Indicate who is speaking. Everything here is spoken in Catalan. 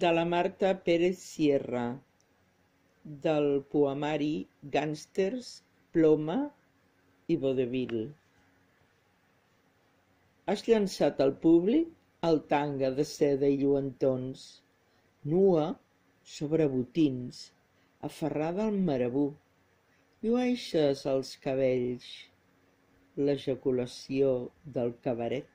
Speaker 1: de la Marta Pérez Sierra, del poemari Gàngsters, Ploma i vodevil. Has llançat al públic el tanga de seda i lluentons, nua sobre botins, aferrada al marabú. Llueixes els cabells, l'ejaculació del cabaret.